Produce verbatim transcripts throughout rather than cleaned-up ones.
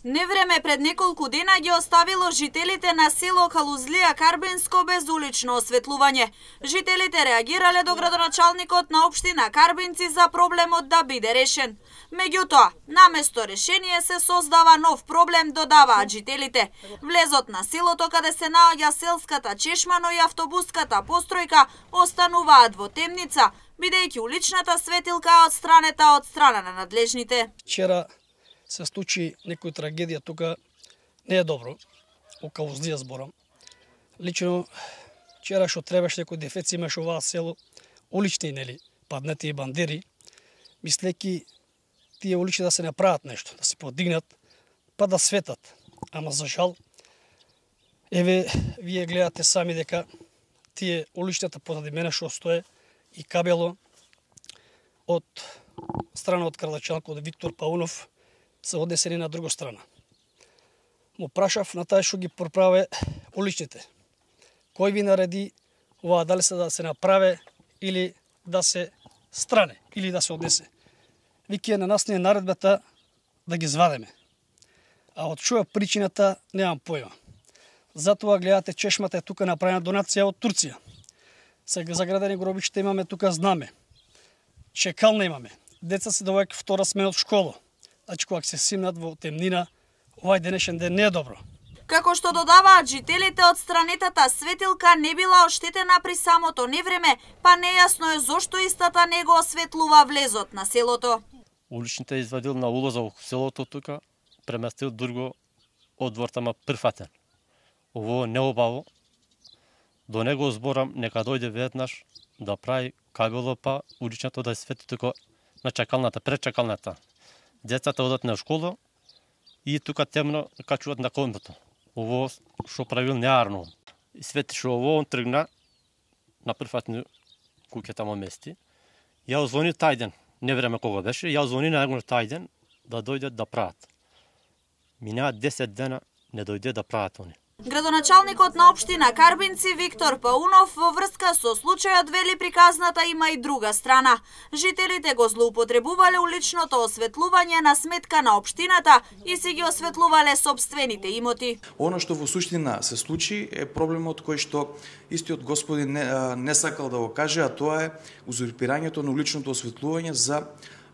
Невреме пред неколку дена ги оставило жителите на село Калузлија Карбинско без улично осветлување. Жителите реагирале до градоначалникот на општина Карбинци за проблемот да биде решен. Меѓутоа, наместо решение се создава нов проблем, додаваат жителите. Влезот на селото каде се наоѓа селската чешма, но и автобуската постројка остануваат во темница, бидејќи уличната светилка е отстранета од страна на надлежните. Вчера се случи некој трагедија тука, не е добро, о Калузлија зборам. Лично, вчера што требаше некој дефеци имаше оваа село, улични, нели, паднати и бандери, мислејќи тие улични да се направат нешто, да се подигнат, па да светат. Ама за жал, еве, вие гледате сами дека тие уличната позади мене што стое и кабело од страна од градоначалникот Виктор Паунов се однесени на друга страна. Му прашав на тај што ги проправе уличните. Кој ви нареди ова, дали се да се направе или да се стране, или да се однесе. Вики на нас не е наредбата да ги звадеме. А од што е причината, немам појма. Затоа гледате чешмата е тука направена донација од Турција. Сега заградени гробишта имаме тука знаме. Чекална имаме. Деца се доваѓаат втора смена од школа. Значи, кога се симнат во темнина, овај денешен ден не е добро. Како што додаваат жителите, отстранетата светилка не била оштетена при самото невреме, па нејасно е зошто истата не го осветлува влезот на селото. Уличните извадил на улоза во селото тука, преместил друго од двортама прифатен. Ово не обаво. До него зборам нека дојде веднаш да прави кабело, па уличното да свети тука на чакалната, пред чакалната. Децата одат на школа и тука темно качуваат на кондото. Ово што правил неарно. И свети што ово он тргна на прифатни куќата му мести. Ја звони тај ден, не време кога беше, ја звони на него тај ден да дојдат да прават. Минаат десет дена, не дојде да прават они. Градоначалникот на општина Карбинци Виктор Паунов во врска со случајот вели приказната има и друга страна. Жителите го злоупотребувале уличното осветлување на сметка на општината и си ги осветлувале собствените имоти. Она што во суштина се случи е проблемот кој што истиот господин не, не сакал да го каже, а тоа е узурпирањето на уличното осветлување за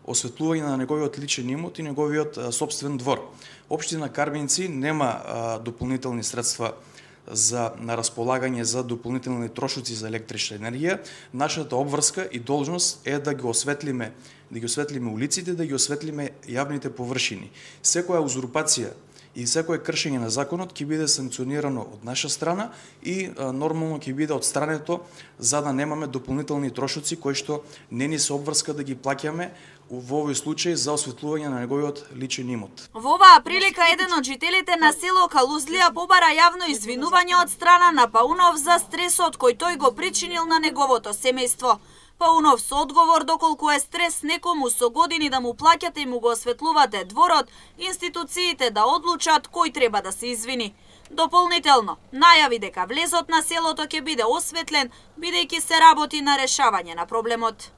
осветлување на неговиот личен имот и неговиот а, собствен двор. Општина Карбинци нема а, дополнителни средства за на располагање за дополнителни трошоци за електрична енергија. Нашата обврска и должност е да ги осветлиме, да ги осветлиме улиците, да ги осветлиме јавните површини. Секоја узурпација и секое кршење на законот ќе биде санкционирано од наша страна и а, нормално ќе биде отстрането за да немаме дополнителни трошоци кои што не ни се обврска да ги плаќаме во овој случај за осветлување на неговиот личен имот. Во оваа прилика еден од жителите на село Калузлија побара јавно извинување од страна на Паунов за стресот кој тој го причинил на неговото семејство. Паунов со одговор доколку е стрес некому со години да му плаќате и му го осветлувате дворот, институциите да одлучат кој треба да се извини. Дополнително, најави дека влезот на селото ќе биде осветлен, бидејќи се работи на решавање на проблемот.